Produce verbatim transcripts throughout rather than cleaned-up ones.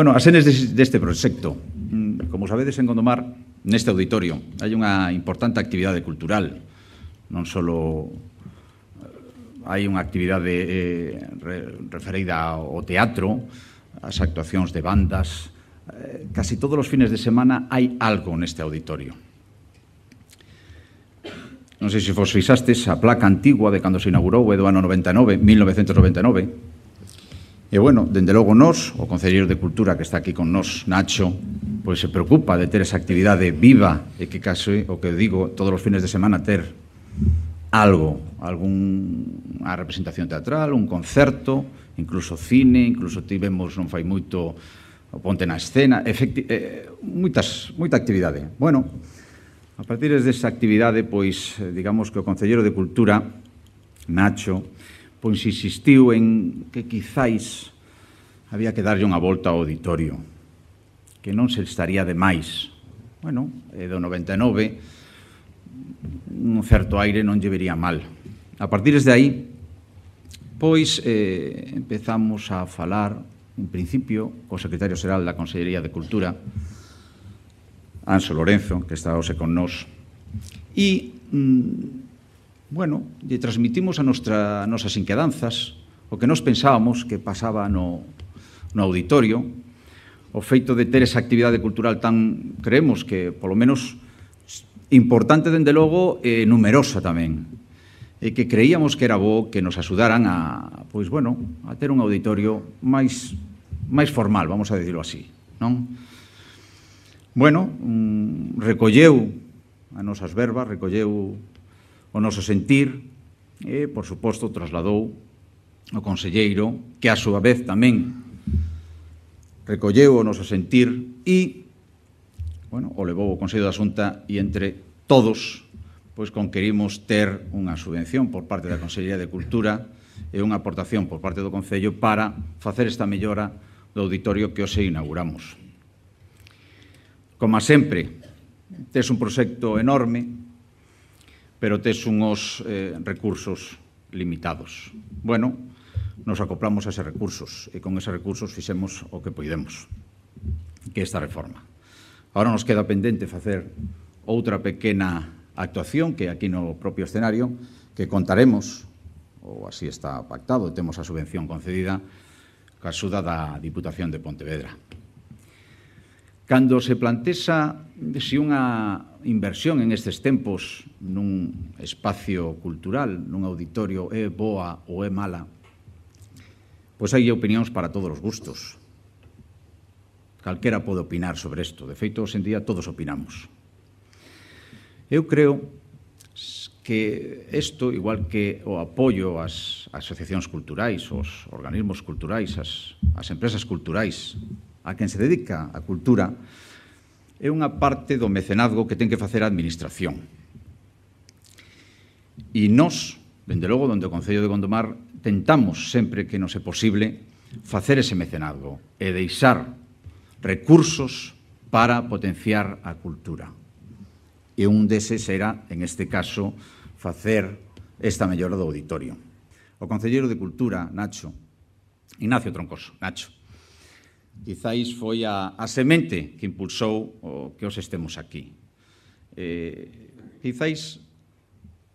Bueno, as enes deste proxecto. Como sabedes, en Gondomar, neste auditorio, hai unha importante actividade cultural. Non só hai unha actividade eh, referida ao teatro, as actuacións de bandas. Eh, casi todos os fines de semana hai algo neste auditorio. Non sei se vos fixastes a placa antigua de cando se inaugurou, é do ano noventa e nove, mil novecentos noventa e nove. E, bueno, dende logo nós, o Concelleiro de Cultura que está aquí con nós, Nacho, pois se preocupa de ter esa actividade viva e que case, o que digo, todos os fines de semana ter algo, algunha representación teatral, un concerto, incluso cine, incluso tivemos non fai moito o Ponte na Escena, efecti eh, moitas, moita actividade. Bueno, a partir desa actividade, pois, digamos que o Concelleiro de Cultura, Nacho, pois insistiu en que quizáis había que darlle unha volta ao auditorio, que non se estaría de máis. Bueno, é do noventa e nove, un certo aire non lle vería mal. A partir de aí, pois, eh, empezamos a falar, en principio, co secretario xeral da Consellería de Cultura, Anxo Lorenzo, que está hoxe con nós, e, mm, bueno, lle transmitimos a nostra, nosas inquedanzas, o que nos pensábamos que pasaba no, no auditorio, o feito de ter esa actividade cultural tan, creemos que, polo menos, importante, dende logo, e numerosa tamén, e que creíamos que era bo que nos axudaran a, pois, bueno, a ter un auditorio máis, máis formal, vamos a dicirlo así, non? Bueno, mm, recolleu as nosas verbas, recolleu o noso sentir e, por suposto, trasladou o conselleiro, que a súa vez tamén recolleu o noso sentir e, bueno, o levou o Consello da Xunta e entre todos, pois, conquerimos ter unha subvención por parte da Consellería de Cultura e unha aportación por parte do Concello para facer esta mellora do auditorio que hoxe inauguramos. Como sempre, tes un proxecto enorme, pero tes unhos eh, recursos limitados. Bueno, nos acoplamos a eses recursos e con eses recursos fixemos o que poidemos, que esta reforma. Agora nos queda pendente facer outra pequena actuación que aquí no propio escenario, que contaremos, ou así está pactado, temos a subvención concedida, ca axuda da Diputación de Pontevedra. Cando se plantexa se unha inversión en estes tempos nun espacio cultural, nun auditorio, é boa ou é mala, pois hai opinións para todos os gustos. Calquera pode opinar sobre isto. De feito, hoxe en día todos opinamos. Eu creo que isto, igual que o apoio ás asociacións culturais, aos organismos culturais, ás, ás empresas culturais, a quen se dedica a cultura, é unha parte do mecenazgo que ten que facer a administración. E nós, dende logo, donde o Concello de Gondomar, tentamos sempre que nos é posible facer ese mecenazgo e deixar recursos para potenciar a cultura. E un deses era, en este caso, facer esta mellora do auditorio. O Concelleiro de Cultura, Nacho, Ignacio Troncoso, Nacho, quizáis foi a, a semente que impulsou o que os estemos aquí. Eh, quizáis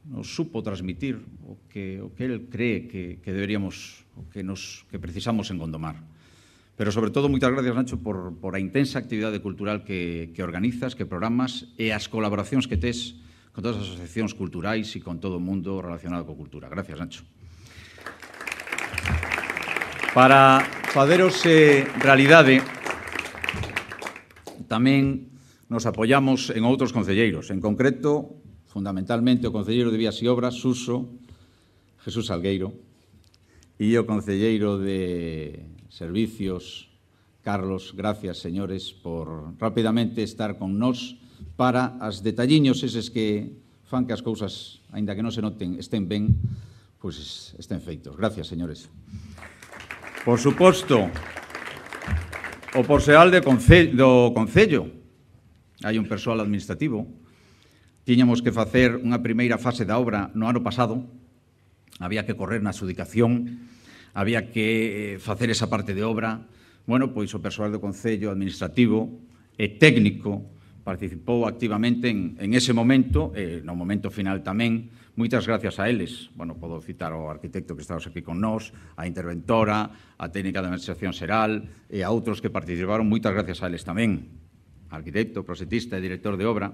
nos supo transmitir o que, o que el cree que, que deberíamos, o que, nos, que precisamos en Gondomar. Pero, sobre todo, moitas gracias, Nacho, por, por a intensa actividade cultural que, que organizas, que programas e as colaboracións que tes con todas as asociacións culturais e con todo o mundo relacionado coa cultura. Gracias, Nacho. Para faceros eh, realidade, tamén nos apoiamos en outros concelleiros, en concreto, fundamentalmente, o concelleiro de Vías e Obras, Suso, Jesús Salgueiro, e o concelleiro de Servicios, Carlos. Gracias, señores, por rapidamente estar con nós para as detalliños eses que fan que as cousas, aínda que non se noten, estén ben, pois estén feitos. Gracias, señores. Por suposto, o persoal do Concello, hai un persoal administrativo, tiñamos que facer unha primeira fase da obra no ano pasado, había que correr na adxudicación, había que facer esa parte de obra, bueno, pois o persoal do Concello administrativo e técnico participou activamente en, en ese momento, e no momento final tamén. Moitas gracias a eles. Bueno, podo citar ao arquitecto que estamos aquí con nós, a interventora, a técnica de administración xeral e a outros que participaron. Moitas gracias a eles tamén. Arquitecto, proxectista e director de obra,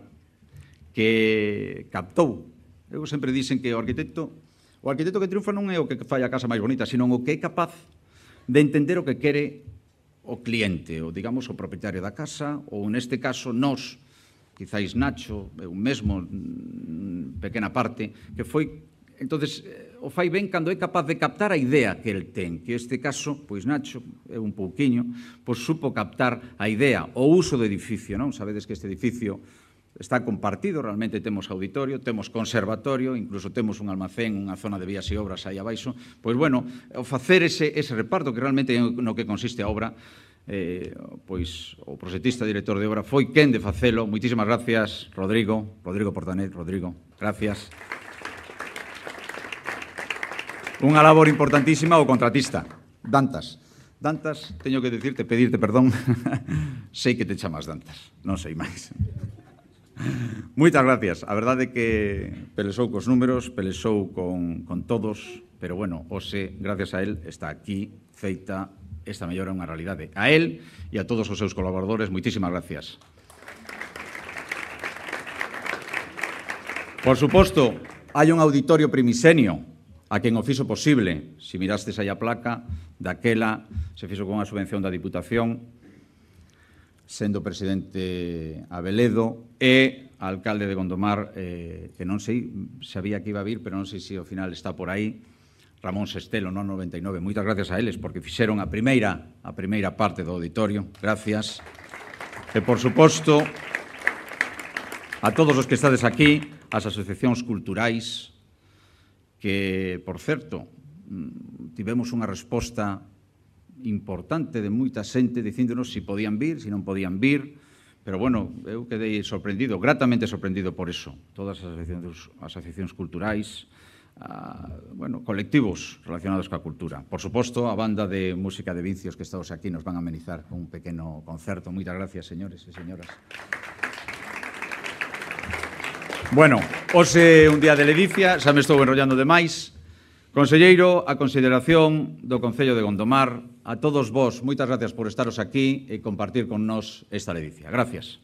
que captou. Eu sempre dicen que o arquitecto, o arquitecto que triunfa non é o que fai a casa máis bonita, sino o que é capaz de entender o que quere o cliente, ou digamos o propietario da casa, ou neste caso nós, quizáis Nacho, eu mesmo, pequena parte, que foi, entonces, o fai ben cando é capaz de captar a idea que el ten, que este caso, pois Nacho, é un pouquiño, pois supo captar a idea, o uso do edificio, non? Sabedes que este edificio está compartido, realmente temos auditorio, temos conservatorio, incluso temos un almacén, unha zona de vías e obras aí abaixo. Pois, bueno, o facer ese, ese reparto, que realmente é no que consiste a obra, eh, pois o proxectista director de obra foi quen de facelo. Moitísimas gracias, Rodrigo, Rodrigo Portanet, Rodrigo, gracias. Unha labor importantísima o contratista, Dantas. Dantas, teño que dicirte, pedirte perdón, sei que te chamas Dantas, non sei máis. Moitas gracias. A verdade é que pelexou cos números, pelexou con, con todos, pero, bueno, hoxe, gracias a él, está aquí feita esta mellora unha realidade. A él e a todos os seus colaboradores, moitísimas gracias. Por suposto, hai un auditorio primisenio a quen o fixo posible. Se mirastes aí a placa, daquela se fixo con a subvención da Diputación, sendo presidente Abeledo, e alcalde de Gondomar, eh, que non sei, sabía que iba a vir, pero non sei se ao final está por aí, Ramón Sestelo, no noventa e nove. Moitas gracias a eles, porque fixeron a primeira, a primeira parte do auditorio. Gracias. E, por suposto, a todos os que estades aquí, as asociacións culturais, que, por certo, tivemos unha resposta importante de moita xente dicíndonos se podían vir, se non podían vir, pero, bueno, eu quedei sorprendido, gratamente sorprendido por eso. Todas as asociacións, asociacións culturais, a, bueno, colectivos relacionados coa cultura. Por suposto, a banda de música de Vincios que estamos aquí nos van a amenizar con un pequeno concerto. Moitas gracias, señores e señoras. Bueno, hoxe un día de ledicia, xa me estou enrollando demais. Conselleiro, a consideración do Concello de Gondomar, a todos vos, moitas gracias por estaros aquí e compartir con nós esta ledicia. Gracias.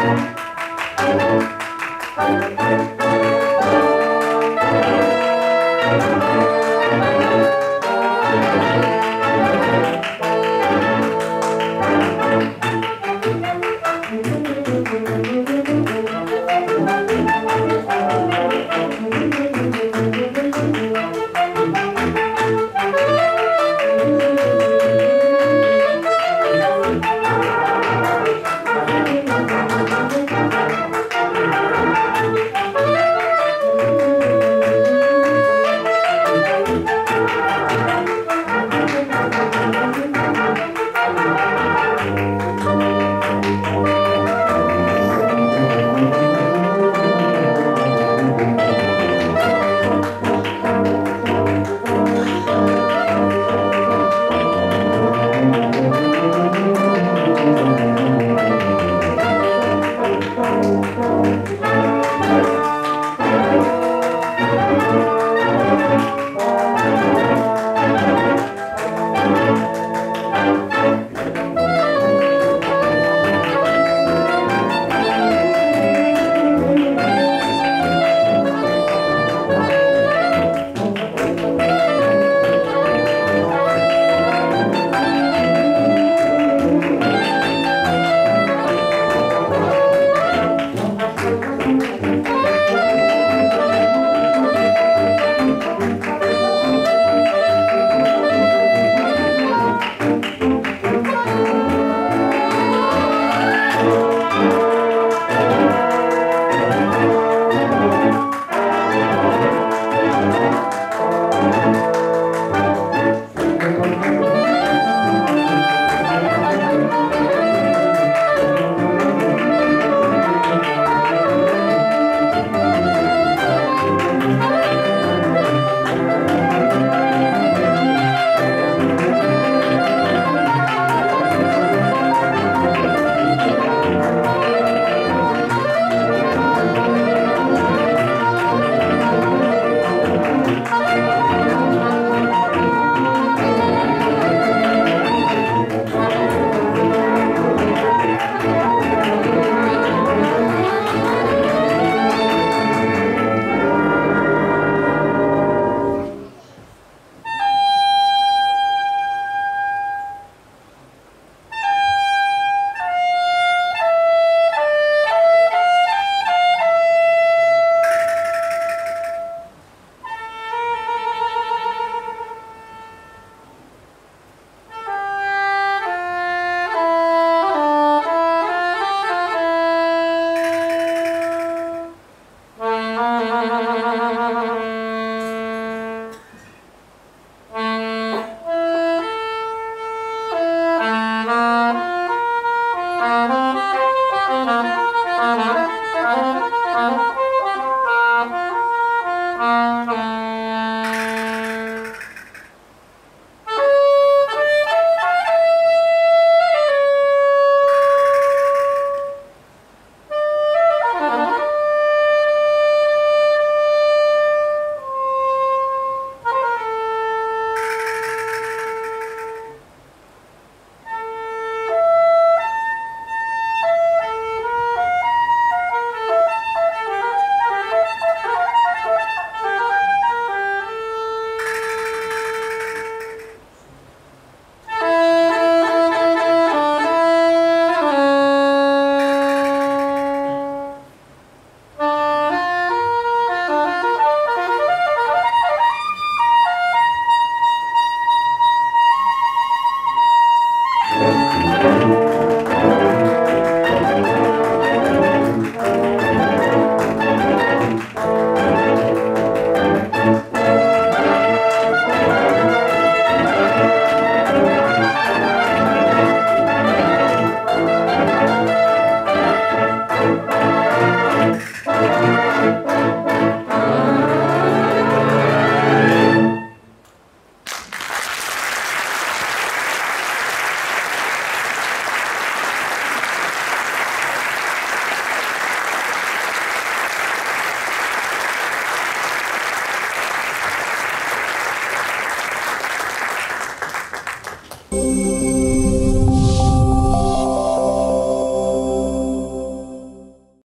Thank you. Música